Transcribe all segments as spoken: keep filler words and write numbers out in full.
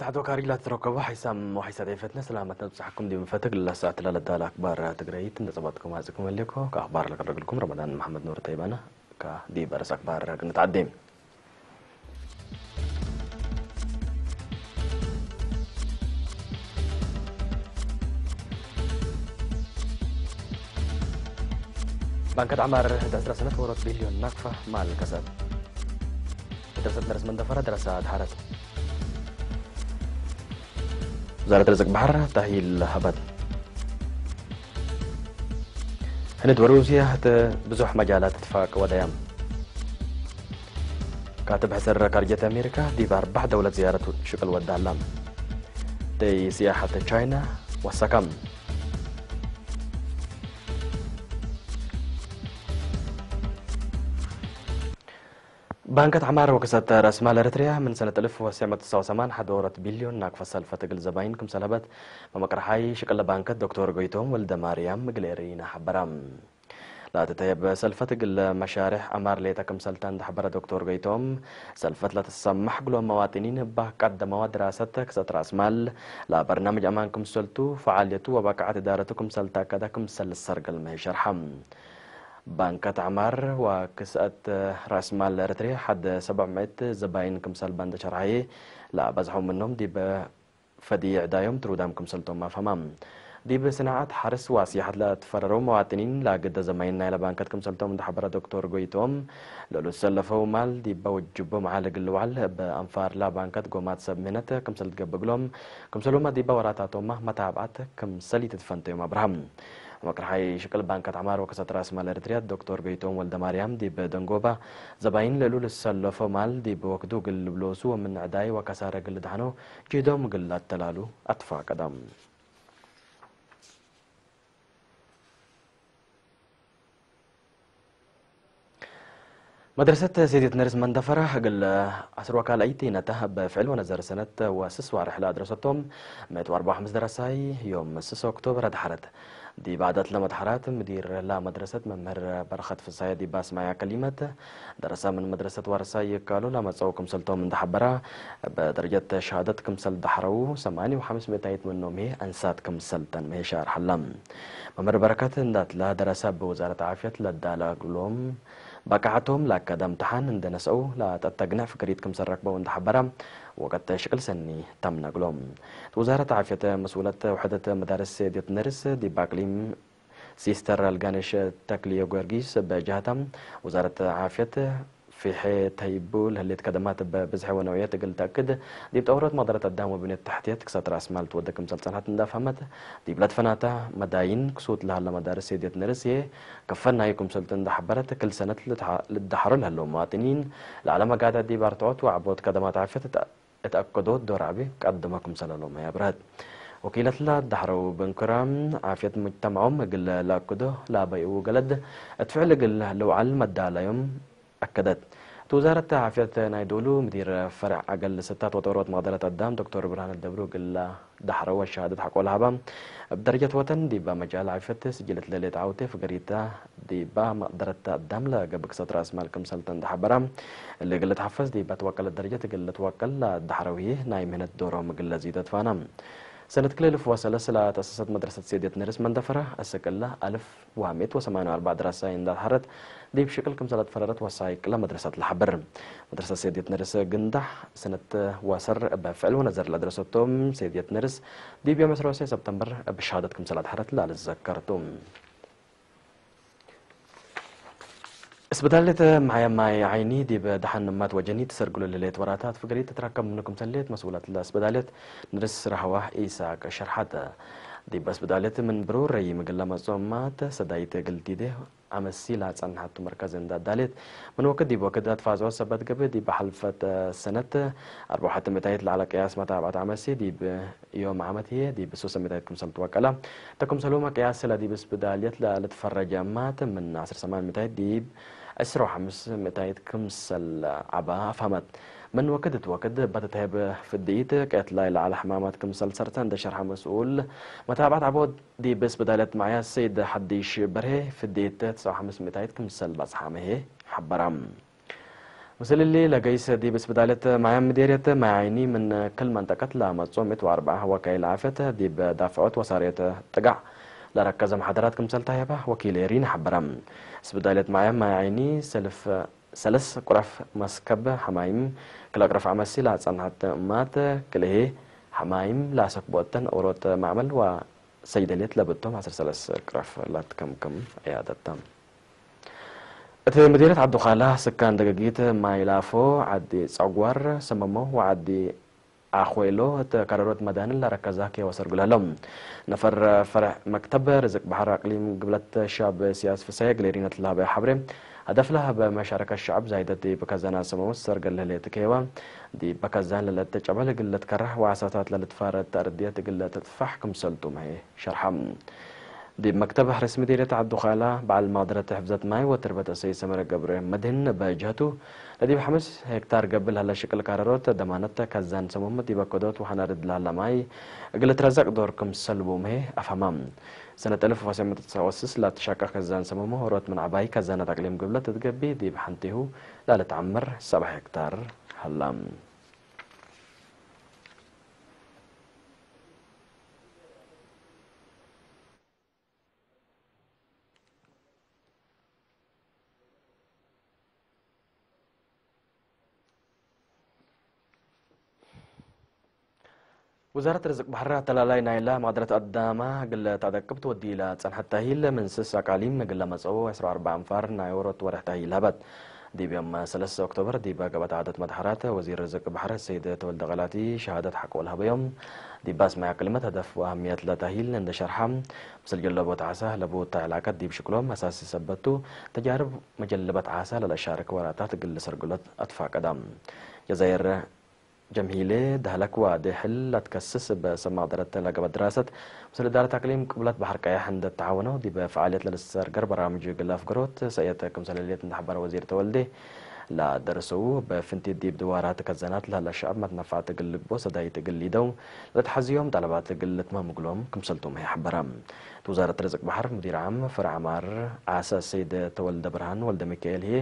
አቶ ካሪ ላትትረከቦ ሐይሳም ወሐይሳት ኤፈትነ ሰላመት ነብጽሐኩም ዲብ እንፈትግ ለሳዕት ለለዳለ አክባር ትግረይት እንደ ጸባጥኩም አጽእኩም ህሌኮ። ከአክባር ለቀረግልኩም ረመዳን መሐመድ ኑር ጠይባነ። ከዲብ አርእስ አክባር ክንትዓዴ። ባንከት ዐማር እት ዕስረ ሰነት ዎሮት ቢልዮን ናቅፈ ማል ከሰት። መድረሰት ነርስ መንደፈረ ደረሰ አድሐረት። ውዛረት ርዝቅ በሐር ተእሂል ሀበት። ህንድ ወሩስየ ህተ ብዙሕ መጃላት እትፋቅ ወደያም። ካትብ ሕስር ካርጀት አሜሪካ ዲብ አርበዕ ደውለት ዝያረት ሽቅል ወደ ሀላም። ደይ ሲያሐት ቻይና ወሰካም። ባንከት ዐማር ወክሰት ረአስማል ኤረትርያ ምን ሰነት እልፍ ወትሰዕ ምእት ወትስዐ ወሰማን ሐድ ዎሮት ቢልዮን ናቅፈ ሰልፈት እግል ዘባይን ክምሰል ሀበት መመቅረሓይ ሽቅለ ባንከት ዶክቶር ጎይቶም ወልደማርያም እግል ኤረይነ ሐበረ። ለአትተየብ ሰልፈት እግል መሻሬሕ ዐማር ሌጠ ክምሰል ተ እንደ ሐበረ ዶክቶር ጎይቶም፣ ሰልፈት ለትሰመሕ እግሎም መዋጥኒን እበ ቀደመወ ድራሰት ክሰት ረአስማል ለበርናምጅ አማን ክምሰልቱ፣ ፈዓልየቱ ወበቃዐት እዳረቱ ክምሰል ተአከደ ክምሰል ልሰርገል መህይ ሸርሐ። ባንከት ዐማር ወክስአት ረአስማል ኤረትርየ ሐድ ሰብዕ ምእት ዘባይን ክምሰል በንደ ሸርሐየ፣ ለአበዝሐው ምኖም ዲብ ፈድይ ዕዳዮም ትሩዳም ክምሰልቶም አፍሀማ። ዲብ ስናዐት ሐርስ ወስያሐት ለትፈረረው መዋጥኒን ለአግደ ዘማይን ናይለ ባንከት ክምሰልቶም እንደ ሐበረ ዶክቶር ጎይቶም፣ ለእሉ ትሰለፈው ማል ዲበ ውጅቦም ዐለ እግል ልውዓል እብ አንፋርላ ባንከት ጎማት ሰብ ምህነት ክምሰል ትገብእ እግሎም፣ ክምሰልሁመ ዲበ ወራታቶምመ መታብዐት ክምሰል ኢትትፈንተዮም አብርሃም። መቅርሓይ ሽቅል ባንከት ዐማር ወከሰት ረአስማል ኤረትርያ ዶክቶር ጎይቶም ወልደማርያም ዲብ ደንጎባ፣ ዘባይን ለእሉ ልሰለፎ ማል ዲብ ወክዱ እግል ልብሎሱ ወምን ዕዳይ ወከሳረ እግል ልድሐኖ ጅህዶም እግል ለአተላሉ አትፋቀደ። መድረሰት ሴድየት ነርስ መንደፈረ እግል ዐስር ወካልአይት ነተ እብ ፍዕል ወነዘር ሰነት ወስስ ዋርሕ ለአድረሰቶም ምእት ወአርበዕ ወሐምስ ደረሳይ ዮም ስስ ኦክቶበር አድሐረት። ዲብ ዓዳት ለመድሐራት ምዲር ለመድረሰት መምህር በረኸት ፍሳየ ዲብ አስማያ ከሊመት፣ ደረሰ ምን መድረሰት ዋርሳይ ይካሉ ለመጽአው ክምሰልቶም እንደ ሐበራ፣ እብ ደረጀት ሸሃደት ክምሰል ደሐረው፣ ሰማንየ ወሐምስ ምእታይት ምኖም ህዬ አንሳት ክምሰል ተን መሄ ሻርሐ ዐለ። መምህር በረከት እንዳትለ ደረሰ እብ ውዛረት ዓፍየት ለዳለ እግሎም በቃዐቶም ለአከደ እምትሓን እንደ ነስአው ለተአተግነዕ ፍክሪት ክምሰል ረክበው እንደ ሐበረ፣ ወቀት ሽቅል ሰኒ ተምነ እግሎም። ውዛረት ዓፍየት መስኡለት ውሕደት መዳርስ ሴድየት ነርስ ዲብ አቅሊም ሲስተር አልጋነሽ ተክልየ ጊዮርጊስ እብ ጀሀተ፣ ውዛረት ዓፍየት ፊሐ ተህይቡ ለህሌት ከደማት እብ ብዝሐ ወነውዕየት እግል ተአክድ፣ ዲብ ጠውሮት መቅደረት አዳም ወብንየት ተሕትየት ክሰት ረአስ ማል ትወዴ ክምሰል ጸንሐት እንደ አፍሀመት፣ ዲብለ ትፈናተ መዳይን ክሱት ለሀለ መዳርስ ሴድየት ነርስ ህዬ፣ ከፈናዩ ክምሰልቱ እንደ ሐበረት፣ ክል ሰነት ልትሐ-፣ ልትደሐሮ ለህለው መዋጥኒን፣ ለዐለ መጋድዕ ዲብ አርትዖት ወዐቦት ከደማት ዓፍየት እት አከዶት ዶር ዐቢ ቀድመ ክምሰለ ሎመ አብረሀት። ወኪለትለ ደሐረው ብንክረ፣ ዓፍየት ሙጅተመዖም እግል ለአክዶ ለአበይኡ ገለድ እት ፍዕል እግል ልውዓል መዳላዮም አከደት። እት ውዛረት ዓፍየት ናይ ዶሉ ምዲር ፈርዕ አገል ስታት ወጠውሮት መቅደረት አዳም ዶክቶር ብርሃነ ደብሩ እግል ደሐረው ወሸሃደት ሐቆ ለሀበ፣ እብ ደረጀት ወጠን ዲበ መጃል ዓፍየት ስጅል እት ለሌጠ ዐውቴ ፍገሪተ ዲበ መቅደረት አዳም ለገብእ ክሰት ረአስ ማል ክምሰልተ እንደ ሐበረ፣ እሊ እግል ልትሐፈዝ ዲበ ትወቀለት ደረጀት እግል ልትወቀል ለደሐረው ህዬ ናይ ምህነት ዶሮም እግል ለዚዶ ትፋነ። ሰነት ክልኤ እልፍ ወሰለስ ለተአሰሰት መድረሰት ሴድየት ነርስ መንደፈረ፣ አስክ እለ አልፍ ወምእት ወሰማንየ ወአርበዕ ደረሳይ እንደ አድሐረት ዲብ ሽቅል ክምሰለ ትፈረረት ወሳይቅ ለመድረሰት ለሐብር። መድረሰት ሴድየት ነርስ ግንዳሕ ሰነት ወሰር እብ ፍዕል ወነዘር ለአድረሰቶም ሴድየት ነርስ ዲብ ዮም ዕስራ ወሰይ ሰብተምበር እብ ሸሃደት ክምሰል አድሐረት ለልዘከር ቱ። እስብዳልየት መሕያ ማይ ዓይኒ ዲብ ደሐን እማት ወጀኒ ትሰርግሎ ለህሌት ወራታት ፍገሪት ትትረከብ ምኑ ክምሰል ህሌት መስኡለት ለእስብዳልየት ንርስ ረህዋ ኢሳቅ ሸርሐት። ዲብ እስብዳልየት ምን ብሩር ረይም እግል ለመጽኦ እማት ሰዳይት እግል ቲዴ አመሲ ለጸንሐቱ መርከዝ እንደ አዳሌት፣ ምን ወክድ ዲብ ወክድ አትፋዝዖት ሰበት ገብእ፣ ዲብ ሐልፈት ሰነት አርበዕ ወሐቲ ምእታይት ለዐለ ቅያስ መታብዐት አመሲ፣ ዲብ ዮም ዓመት ህዬ ዲብ ሱሰ ምእታይት ክምሰል ትወቀለ። እተ ክምሰልሁመ ቅያስ ለዲብ እስብዳልየት ለልትፈረጀ እማት ምን ዐስር ሰማን ምእታይት ዲብ ዕስር ወሐምስ ምእታይት ክምሰል ዐበ አፍሀመት። ምን ወክድ እት ወክድ እበ ትትሀየብ ፍድኢት፣ ቅየት ላይ ለዐለ ሕማማት ክምሰል ሰርተ እንደ ሸርሐ መስኡል መታብዐት ዐቦት ዲብ እስብዳልየት መዕያስ ሰይድ ሐዲሽ በርሄ፣ ፍድኢት ትስዐ ወሐምስ ምእታይት ክምሰል በጽሐ መ ህዬ ሐበረ። ምስል እሊ ለገይስ ዲብ እስብዳልየት ማያም ምዴርየት ማይ ዓይኒ ምን ክል መንጠቀት ለመጽኦ ምእት ወአርበዓ ወካይል ዓፍየት ዲብ ዳፍዖት ወሳርየት ጥጋዕ ለረከዘ መሓደራት ክምሰል ተህየበ ወኪል ኤሪን ሐበረ። እስብዳልየት ማያም ማይ ዓይኒ ሰልፍ ሰለስ ቁረፍ መስከብ ሐማይም ክለ ቅረፍ አመሲ ለአጸንሐት እማት ክልኤ ሐማይም ለአሰክቦ እተን ኦሮት ማዕመል ወሰይደልየት ለብቶም ዐስር ሰለስ ቅረፍ ለትከምክም ዕያደት ተ። እት ምዲርየት ዐዱ ካላ ስካን ደገጊት ማይ ላፎ፣ ዐዲ ጸጓር፣ ሰመሞ ወዐዲ አኮይሎ እት ከረሮት መዳንን ለረከዛኬ ወሰርጉ ለህለው። ነፈር ፈርዕ መክተብ ርዝቅ በሐር አቅሊም ግብለት ሻብ ስያስ ፍሳዬ እግል ኤሪነት ለሀበ ሐብሬ፣ ሀደፍ ለሀበ መሻረከት ሸዐብ ዛይደት ዲብ ከዛን አሰመሙት ሰርገል ለህሌት ከይዋ፣ ዲብ ከዛን ለለትጨበል እግል ልትከረህ ወአሳታት ለልትፋረድ ተአርድየት እግል ልትጥፋሕ ክምሰልቱ መሄ ሸርሐ። ዲብ መክተብ ሐርስ ምዲርየት ዐዱ ካላ በዐል ማድረት ሕፍዘት ማይ ወትርበት ሰይድ ሰመረ ገብረ መድህን በጀህቱ፣ ለዲብ ሐምስ ሄክታር ገብእ ለሀለ ሽቅል ካረሮት ደማነት ከዛን ሰሙም ዲበ ከዶት ወሐናርድ ለሀለ ማይ እግል ልትረዘቅ ዶር ክምሰል ቡምሄ አፍሀማ። ሰነት አልፍ ወትሰዕ ምእት ወትስዓ ወስስ ለትሸቀ ከዛን ሰሙም ሆሮት ምን ዐባይ ከዛነት አቅሊም ግብለት እት ገቢ ዲብ ሐንቴሁ ለልትዐምር ሰብዓ ሄክታር ሀላ። ውዛረት ርዝቅ በሐር አተላላይ ናይላ ማድረት አዳማ እግል ተአደቅብ ትወዲ ለጸንሐት ታሂል ምን ስስ አቃሊም እግል ለመጽኦ ዐስራ ወአርበዕ አንፋር ናይ ዎሮት ወርሕ ታሂል ሀበት። ዲብ ዮም ሰለስ ኦክቶበር ዲብ ገብአት ዓደት መድሐራት ወዚር ርዝቅ በሐር ሰይድ ተወልደ ቀላቲ ሸሃደት ሐቆ ለሀበዮም። ዲብ ባስ ማይ አቅሊመት ሀደፍ ወአህምየት ለታሂል እንደ ሸርሐ፣ ምስል ጀለቦት ዓሳ ለቡ እተ ዕላቀት ዲብ ሽቅሎም አሳሲ ሰበት ቱ፣ ተጃርብ መጀልበት ዓሳ ለለሻርክ ወራታት እግል ልሰርግሎት አትፋቀዳ። ጀዛይር ጀምሂሌ ደህለክ ዋዴ ሕል ለትከስስ እበ ሰብ ማቅደረት ለገብአ ድራሰት፣ ምስል እዳረት አቅሊም ቅብለት በሐር ቀየሕ እንዴ ተዓወነው፣ ዲበ ፈዓልየት ለልትሰርገር በራምጅ እግል አፍገሮት ሰእየት ክምሰል ህሌት እንዴ ሐበረ ወዚር ተወልዴ፣ ለደርሰው እበ ፍንቲት ዲብ ድዋራት ከዘናት ለህለ ሸዐብ መትነፋዕት እግል ልግቦ ሰዳይት እግል ሊደው ለልትሐዝዮም ጠለባት እግል ልትመም እግሎም ክምሰልቱም ህይ ሐበረ። እት ውዛረት ርዝቅ በሐር ሙዲር ዓም ፈርዕ ዐማር ዓሰ ሰይድ ተወልደ ብርሃን ወልደሚካኤል ህዬ፣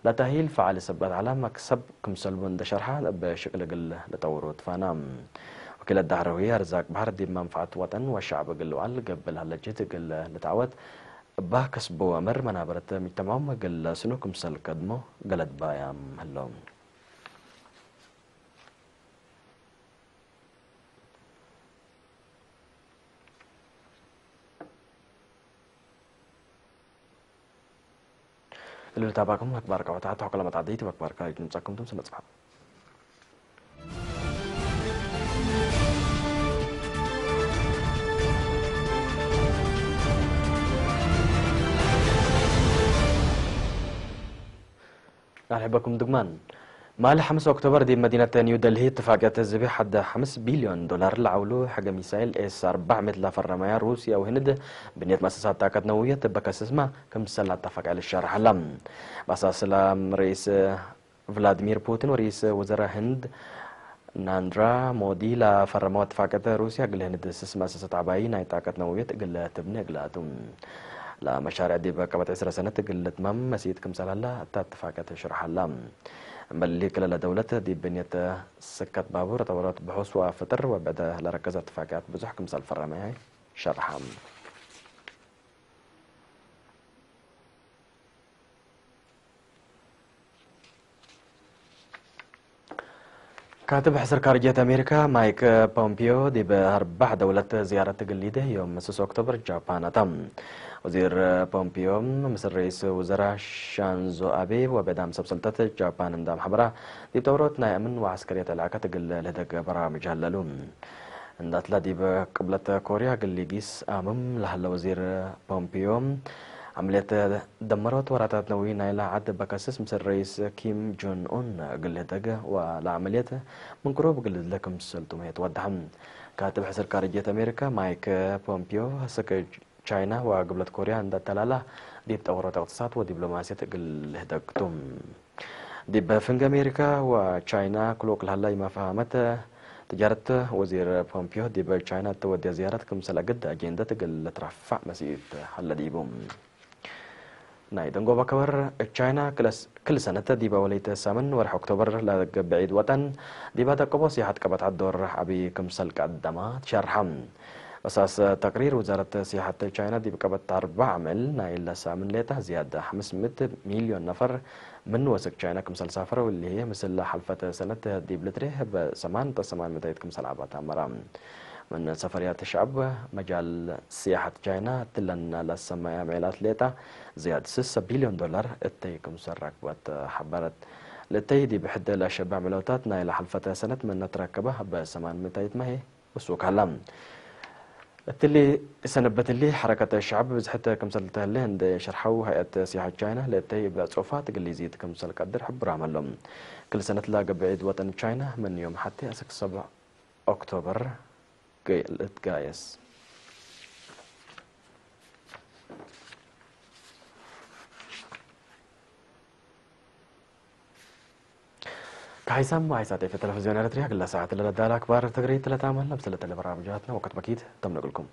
ለታሂል ፈዓል ሰበት ዐለ መክሰብ ክምሰልቡ እንዴ ሸርሐ፣ እብ ሽቅል እግል ልጠውሮ ትፋና። ወኪለት ዳህረ ህዬ፣ አርዛቅ በሐር ዲብ መንፈዐት ወጠን ወሸዐብ እግል ልውዓል ገብእ ለሀለ ጅህድ እግል ልትዐወት፣ እባ ከስቦ አምር መናበረት ምጅተማም እግል ለስኑ ክምሰል ከድሞ ገለድ ባያም ህለው። እሊ ልታባኩም አክባር ቀወታት ሐቆ ለመጣደይት ወአክባር ካይት ንምጻኩም ቱም ስነ ጽባሕ። ናርሕበኩም ድግማን። ማል ሐምስ ኦክቶበር ዲብ መዲነት ኒው ደልሂ እትፋቅየት ዝቤ ሐደ ሐምስ ቢልዮን ዶላር ለዐውሉ ሕገ ሚሳይል ኤስ አርበዕ ምእት ለፈረመያ ሩስያ ወህንድ ብንየት መአሰሳት ጣቀት ነውየት እበ ከስስማ ክምሰል አተፋቅያ ልሻርሕ ዐላ። በአሳስላም ርኢስ ቭላድሚር ፑቲን ወርኢስ ውዘራ ህንድ ናንድራ ሞዲ ለፈረመው እትፋቅየት ሩስያ እግል ህንድ ስስ መአሰሰት ዐባይ ናይ ጣቀት ነውየት እግል ትብኔ እግላቱ። ለመሻርዕ ዲብ ቀበት ዕስረ ሰነት እግል ልትመም መሲት ክምሰል ሀላ እተ እትፋቅየት ሽርሕ ሀላ። እምበል ክልለ ደውለት ዲብ ብንየት ስከት ባቡር፣ ጠወሮት ብሑስ ወፍጥር ወብዕደ ለረከዘ እትፋቅያት ብዙሕ ክምሰል ፈረመ ሸርሐ። ካትብ ሕስር ካርጅየት አሜሪካ ማይክ ፖምፒዮ ዲብ አርበዕ ደውለት ዝያረት እግል ሊዴ ዮም ስስ ኦክቶበር ጃፓን አታ። ወዚር ፖምፒዮ ምስል ርኢስ ውዘራ ሻንዞ አቤ ወብዕዳም ሰብ ሰልጠት ጃፓን እንዳ አምሐበራ፣ ዲብ ጠውሮት ናይ አምን ወዐስከርየት ዕላቀት እግል ልህደግ በራምጅ ሀለሉ። እንዳትላ ዲብ ቅብለት ኮርያ እግል ሊጊስ አምም ለሀለ ወዚር ፖምፒዮ፣ ዐምልየት ደመሮት ወራታት ነዊ ናይላ ዐድ በከስስ ምስል ረኢስ ኪም ጆን ኡን እግል ልህደግ ወለዐመልየት ምን ቅሩብ እግል ልድለ ክምሰልቱ መ ትወደሐ። ካትብ ሕስር ካርጅየት አሜሪካ ማይክ ፖምፒዮ፣ አሰክ ቻይና ወግብለት ኮርያ እንደ ተላላ፣ ዲብ ጠወሮት እቅትሳድ ወዲብሎማስየት እግል ልህደግ ቱ። ዲብ ፍንግ አሜሪካ ወቻይና ክሉቅ ለሀለ ኢመፋሀመት ትጃረት፣ ወዚር ፖምፒዮ ዲብ ቻይና እተ ወድየ ዝያረት ክምሰል አግድ አጄንደት እግል ልትረፋዕ መሲት ሀለ ዲቡ። ናይ ደንጎበ ከበር፣ ቻይና ክለስ ክል ሰነት ዲብ አወለይት ሳምን ወርሕ ኦክቶበር ለገብእ ዒድ ወጠን፣ ዲብ አደቀቦ ሲያሐት ቀበት ሐዶር ዐቢ ክምሰል ቀደማ ትሸርሐ። በሳስ ተቅሪር ውዛረት ሲያሐት ቻይና፣ ዲብ ቀበት አርበዕ አምዕል ናይለ ሳምን ሌጠ ዝያድ ሐምስ ምእት ሚልዮን ነፈር ምን ወሰክ ቻይና ክምሰል ሳፈረው፣ እሊ ህዬ ምስል ሐልፈት ሰነት ዲብ ልትሬ በሰማን ነጥብ ሰማን ምእት ክምሰል ዐባ ተአመረ። ምን ሰፈርያት ሸዐብ መጃል ሲያሐት ቻይና እትለን ለሰመየ አምዕላት ሌጠ ዝያድ ስሰ ቢልዮን ዶላር እተይ ክምሰል ረክበት ሐበረት። ለእተይ ዲብ ሕድ ለሸበዕ ምዕለውታት ናይለ ሐልፈተ ሰነት ምን ትረከበ በሰማን ምእት መ ህዬ ወሱክ ሀላ። እትሊ ሰነበት እሊ ሐረከት ሸዐብ ብዝሕት ክምሰል ተህሌ እንዴ ሸርሐው፣ ሀይአት ሲያሐት ቻይና ለእተይ እብ ጾፋት ግሊዚት ክምሰል ቀድር ሕቡር አመሎም። ክል ሰነት ለገብእ ዒድ ወጠን ቻይና ምን ዮም ሐቴ አስክ ሰብዕ ኦክቶበር ልትጋየስ። ከሀይሳም ሀይሳት ኤፍ ቴሌቪዝዮን ኤረትርያ፣ ግለ ሰዓት ለለዳለ አክባር ትግርይት ለታመ ለምሰለተ ለበራምጃትነ ወቅት በኪት ተምነቅልኩም።